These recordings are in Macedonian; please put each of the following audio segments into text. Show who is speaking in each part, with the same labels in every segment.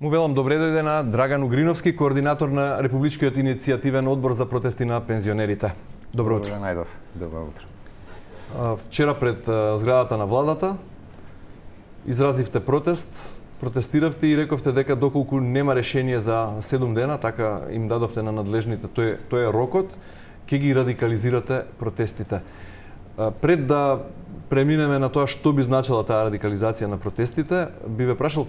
Speaker 1: Му велам добре дојде на Драган Угриновски, координатор на Републичкиот иницијативен одбор за протести на пензионерите. Добро утро.
Speaker 2: Добро најдов. Добро утро.
Speaker 1: Вчера пред зградата на владата изразивте протест, протестиравте и рековте дека доколку нема решение за 7 дена, така им дадовте на надлежните, тој е рокот, ќе ги радикализирате протестите. Пред да преминеме на тоа што би значила таа радикализација на протестите, би ве прашал,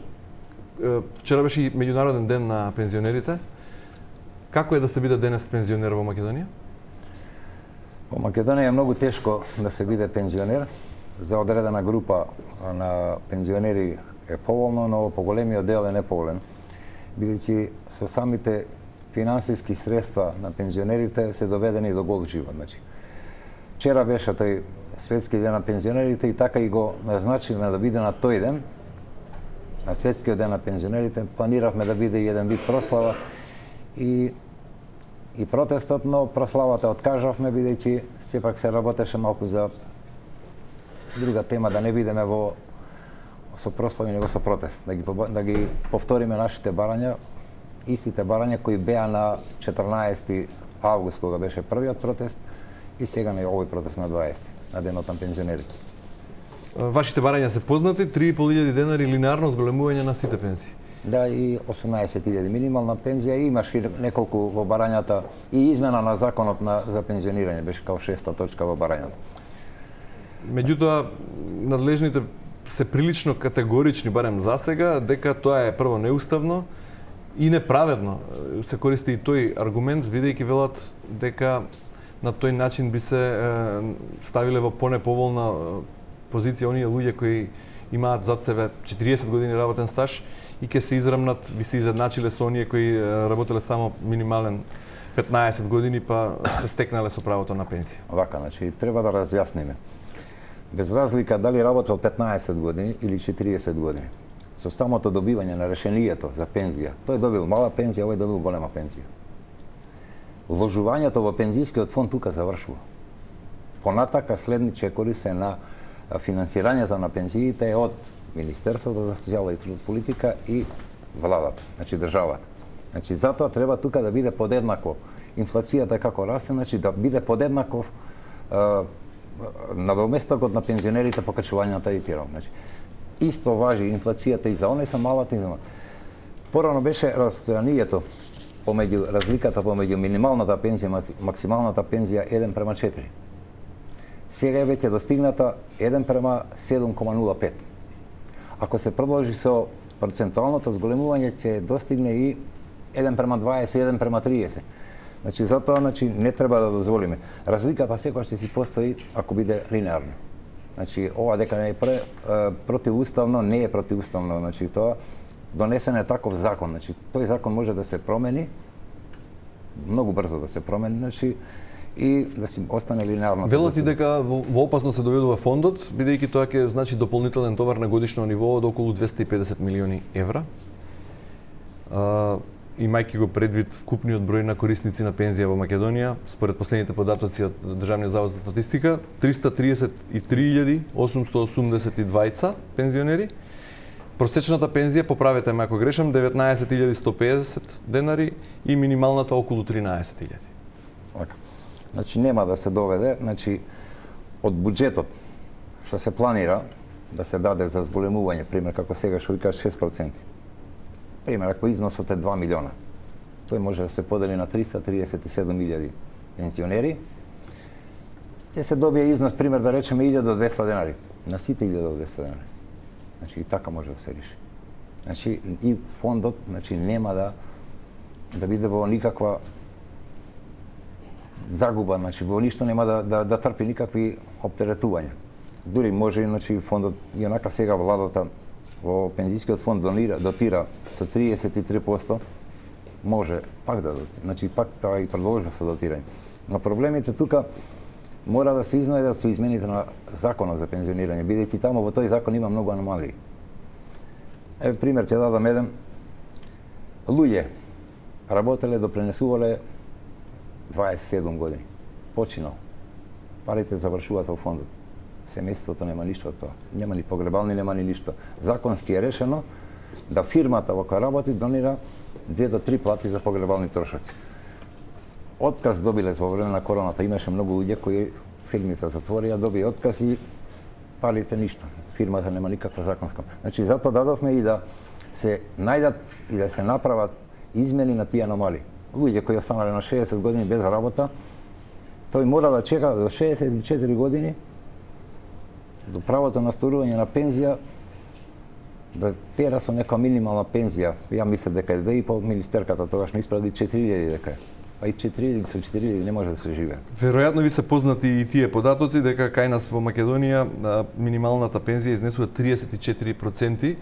Speaker 1: вчера беше и меѓународен ден на пензионерите. Како е да се биде денес пензионер во Македонија?
Speaker 2: Во Македонија е многу тешко да се биде пензионер. За одредена група на пензионери е поволно, но поголемиот дел е неповолен, бидејќи со самите финансиски средства на пензионерите се доведени до гол живот. Вчера беше тој светски ден на пензионерите и така и го назначивме да биде на тој ден, на светскиот ден на пензионерите. Планиравме да биде еден вид прослава и протестот, но прославата откажавме, бидејќи сепак се работеше малку за друга тема, да не бидеме со прослави, него со протест. Да ги повториме нашите барања, истите барања кои беа на 14 август, кога беше првиот протест, и сега на овој протест на 20, на денот на пензионерите.
Speaker 1: Вашите барања се познати, 3.500 денари линарно зголемување на сите пензии.
Speaker 2: Да, и 18.000 минимална пензија, и имаш и неколку во барањата, и измена на законот за пензионирање, беше као 6-та точка во барањата.
Speaker 1: Меѓутоа, надлежните се прилично категорични, барем за сега, дека тоа е прво неуставно и неправедно. Се користи и тој аргумент, бидејќи велат дека на тој начин би се ставиле во понеповолна позиција оние луѓе кои имаат зад себе 40 години работен стаж и ќе се израмнат, би се изедначиле со оние кои работеле само минимален 15 години, па се стекнале со правото на пензија.
Speaker 2: Вака, треба да разјасниме. Без разлика дали работел 15 години или 40 години, со самото добивање на решението за пензија, тој добил мала пензија, овој добил голема пензија. Вложувањето во пензискиот фонд тука завршува. Понатака следни чекори се на финансирањето на пензиите од Министерството за социјална и политика и владата, државата. Затоа треба тука да биде подеднакво. Инфлацијата како расте, да биде подеднаков надоместокот на пензионерите по качувањата и тиром. Исто важи инфлацијата и за оние со малата и за малата. Порано беше разстојанието разликата помеѓу минималната пензија и максималната пензија 1:4. Сега е веќе достигната 1:7,05. Ако се продолжи со процентуалното зголемување, ќе достигне и 1:20, 1:30. Затоа не треба да дозволиме. Разликата секогаш ќе си постои ако биде линеарно. Ова дека не е противуставно, не е противуставно. Тоа донесен е таков закон. Тој закон може да се промени, многу брзо да се промени, и да си остане линеарно.
Speaker 1: Велат и дека во опасност се доведува фондот, бидејќи тоа ќе значи дополнителен товар на годишно ниво од околу 250 милиони евра. Имајќи го предвид вкупниот број на корисници на пензија во Македонија, според последните податоци од Државниот завод за статистика, 333.882 пензионери. Просечната пензија, поправете ме ако грешам, 19.150 денари и минималната околу 13.000.
Speaker 2: Нема да се доведе, од буџетот што се планира да се даде за зголемување, пример како сега што ви кажа 6%. Пример, ако износот е 2 милиона, тој може да се подели на 337.000 пензионери, ќе се добие износ, пример, да речеме 1.200 денари, на сите 1.200 денари. И така може да се реши. И фондот нема да биде во никаква загуба, во ништо нема да трпи никакви оптеретувања. Дури може фондот, и онака сега владата во пензискиот фонд дотира со 33%, може пак да дотира, пак тоа и продолжува со дотирање. Но проблемите тука мора да се изнајдат со измените на законот за пензионирање, бидејќи таму во тој закон има многу аномалии. Пример ќе дадам еден. Луѓе работеле, допринесувале 27 години. Починал. Парите завршуваат во фондот. Семејството нема ништо од тоа. Нема ни погребални, нема ни ништо. Законски е решено да фирмата во која работи донира 2 до 3 плати за погребални трошоци. Отказ добиле во време на короната, имаше многу луѓе кои фирмите затворија, доби отказ и палите ништо. Фирмата нема никаква законска. Значи затоа дадовме и да се најдат и да се направат измени на тие аномалии. Луѓе кои останале на 60 години без работа, тој мора да чека до 64 години до правото на остарување на пензија, да тера со нека минимална пензија. Ја мислам дека е 2,5, министерката тогаш не испради 4.000 дека е. Па и 4.000 со 4.000 не може да се живее.
Speaker 1: Веројатно ви се познати и тие податоци дека кај нас во Македонија минималната пензија изнесува 34%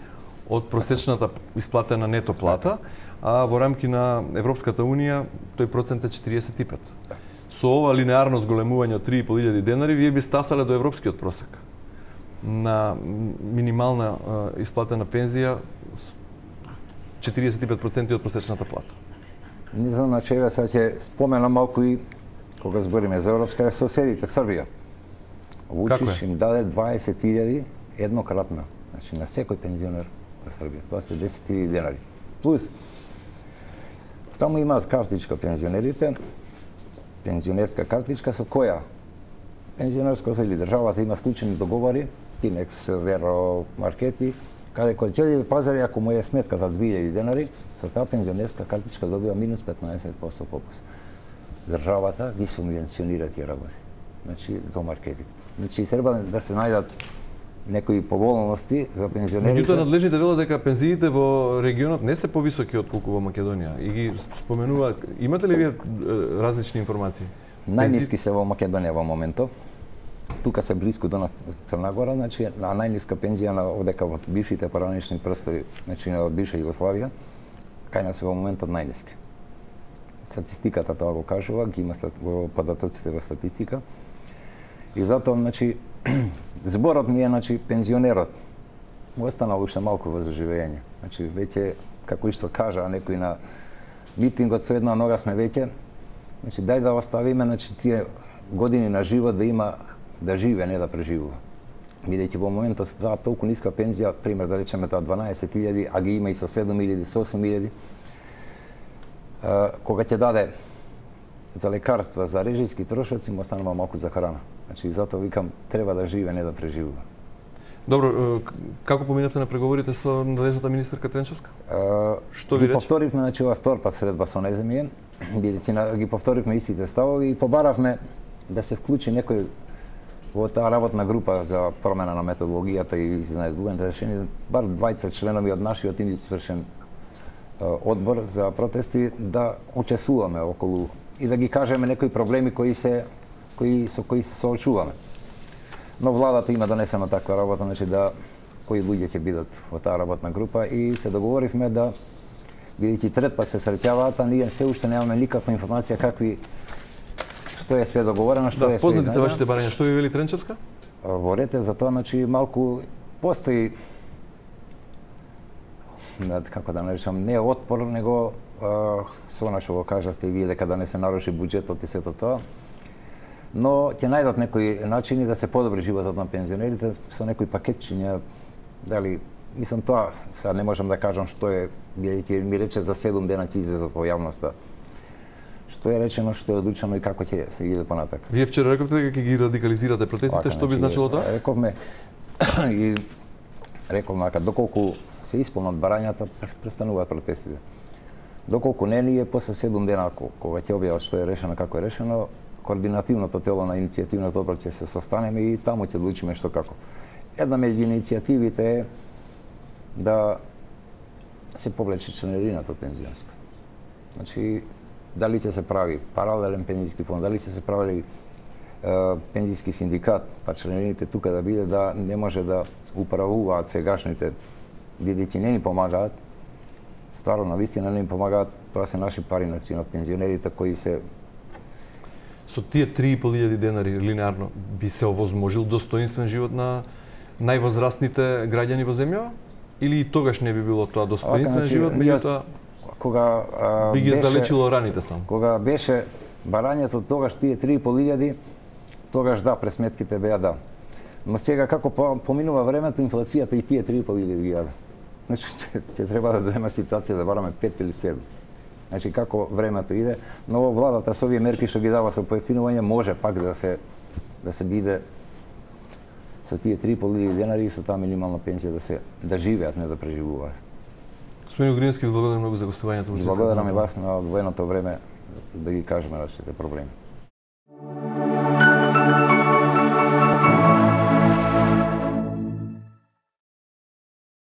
Speaker 1: од просечната исплатена нето плата, а во рамки на Европската Унија тој процент е 45%. Со ова линеарно зголемување од 3.500 денари, вие би стасале до европскиот просек на минимална исплатена пензија 45% од просечната плата.
Speaker 2: Не знам на чега, сега ќе споменам малку и кога збориме за Европска, соседите Србија. Вучич им даде 20.000 еднократно, значи на секој пензионер во Србија. Тоа се 10.000 денари. Плюс, таму имаат картичка пензионерите, пензионерска картичка со која пензионерско или државата има склучени договори, Тинекс, Веро, Маркети, каде кој ќе пазари, ако му е сметката 2.000 денари, со таа пензионерска картичка добива минус 15% попуст. Државата ги субвенционира тие работи. Значи, до маркетите. Значи, треба да се најдат некои поволности за пензионерите.
Speaker 1: Меѓутоа, надлежните велат дека пензиите во регионот не се повисоки од колку во Македонија. И ги споменуваат. Имате ли вие различни информации?
Speaker 2: Најниски се во Македонија во моментов. Тука се близко до нас Црна Гора, значи на најниска пензија на одека во бившите поранични простори, значи на бивша Југославија, кај нас во моментот најниски. Статистиката тоа го кажува, ги има во податоците во статистика. И затоа, значи, зборот ми е, значи, пензионерот му останал уште малку во заживење. Значи, веќе, како што кажа некој на митингот, со една нога сме веќе, значи, дај да оставиме, значи, тие години на живот да има да живее, не да преживува. Бидејќи во моментот со таа толку ниска пензија, пример да речеме таа 12.000, а ги има и со 7.000, со 8.000, кога ќе даде за лекарства, за режијски трошоци, му останува малку за храна. Значи, затоа викам, треба да живее, не да преживува.
Speaker 1: Добро, како поминавте на преговорите со надлежната министерка Тренчевска? Што ви рече?
Speaker 2: Ги повторивме, значи, ова втор пат средба со нејземје, бидејќи ги повторивме истите ставови и побаравме да се вклучи некој во таа работна група за промена на методологијата и изнајдување решение, бар 20 членови од нашиот извршен одбор за протести да учествуваме околу и да ги кажеме некои проблеми со кои се соочуваме. Но владата има донесено таква работа, значи да кои луѓе ќе бидат во таа работна група и се договоривме да, бидејќи трет пат се среќаваат, а ние се уште немаме никаква информација што е све договорено, што е све.
Speaker 1: Познати се вашите барања, што ви вели Тренчевска?
Speaker 2: Во ред е за тоа, значи малку постои како да наречам, не отпор, него со она што го кажавте и вие дека да не се наруши буџетот и сето тоа. Но ќе најдат некои начини да се подобри животот на пензионерите со некои пакетчиња, дали мислам тоа, сега не можам да кажам што е, бидејќи ми рече за 7 дена ќе излезат во јавноста. Што е речено, што е одлучено и како ќе се иде понатака.
Speaker 1: Вие вчера рековте дека ќе ги радикализирате протестите, што би значило тоа?
Speaker 2: Рековме и рековме дека доколку се исполнат барањата, престануваат протестите. Доколку не, ние после 7 дена кога ќе објават што е решено, како е решено, координативното тело на иницијативното одбор ќе се состанеме и таму ќе одлучиме што како. Една меѓу иницијативите е да се повлече членарината пензионска. Значи, дали ќе се прави паралелен пензијски фонд, дали ќе се прави пензијски синдикат, па членарините тука да биде да не може да управуваат сегашните, бидејќи не ни помагаат, стварно навистина не ни помагаат, тоа се наши пари на пензионерите кои се.
Speaker 1: Со тие 3.500 денари линеарно би се овозможил достоинствен живот на највозрастните граѓани во земјава? Или и тогаш не би било тоа достоинствен живот, меѓутоа
Speaker 2: кога
Speaker 1: би ги залечило раните само?
Speaker 2: Кога беше барањето тогаш тие 3.500, тогаш да, пресметките беа да. Но сега како поминува времето, инфлацијата и тие 3.500 ги јаде. значи ќе треба да дојдеме ситуација да бараме 5 или 7. Значи како времето иде, но владата со овие мерки што ги дава со поевтинување може пак да се биде со тие 3.500 денари и со таа минимална пензија да живеат, не да преживуваат.
Speaker 1: Господин Огрински, благодарам многу за гостувањето.
Speaker 2: Благодарам и вас на одвоеното време да ги кажеме нашите проблеми.